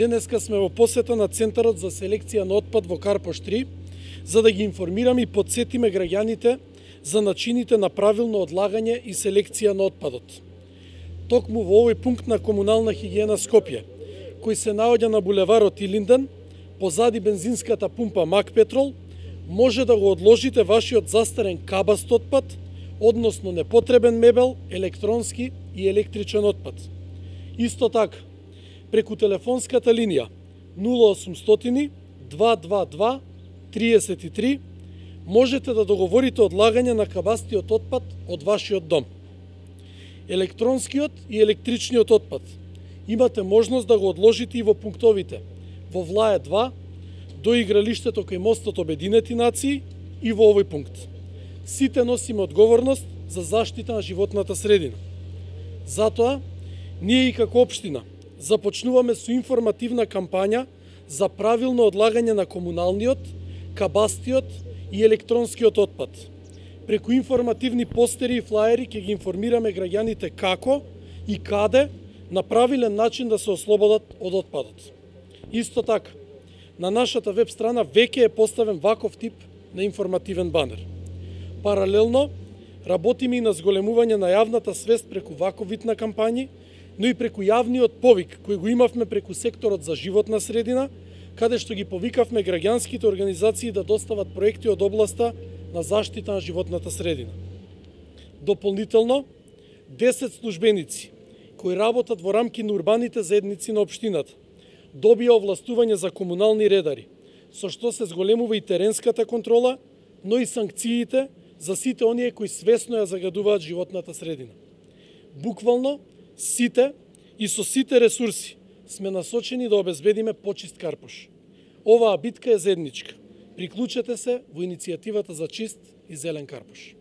Денеска сме во посета на Центарот за селекција на отпад во Карпош 3, за да ги информираме и подсетиме граѓаните за начините на правилно одлагање и селекција на отпадот. Токму во овој пункт на комунална хигиена Скопје, кој се наоѓа на булеварот Илинден, позади бензинската пумпа Мак Петрол, може да го одложите вашиот застарен кабаст отпад, односно непотребен мебел, електронски и електричен отпад. Исто така, преку телефонската линија 0800 222 33 можете да договорите одлагање на кабастиот отпад од вашиот дом. Електронскиот и електричниот отпад имате можност да го одложите и во пунктовите во Влае 2, до игралиштето кај мостот Обединети нации и во овој пункт. Сите носиме одговорност за заштита на животната средина. Затоа, ние и како општина започнуваме со информативна кампања за правилно одлагање на комуналниот, кабастиот и електронскиот отпад. Преку информативни постери и флаери ќе ги информираме граѓаните како и каде на правилен начин да се ослободат од отпадот. Исто така, на нашата веб страна веќе е поставен ваков тип на информативен банер. Паралелно, работиме и на зголемување на јавната свест преку ваков вид на кампањи, но и преку јавниот повик кој го имавме преку секторот за животна средина, каде што ги повикавме граѓанските организации да достават проекти од областа на заштита на животната средина. Дополнително, 10 службеници кои работат во рамки на урбаните заедници на општината добија овластување за комунални редари, со што се зголемува и теренската контрола, но и санкциите за сите оние кои свесно ја загадуваат животната средина. Буквално, сите и со сите ресурси сме насочени да обезбедиме почист Карпош. Оваа битка е заедничка. Приклучете се во иницијативата за чист и зелен Карпош.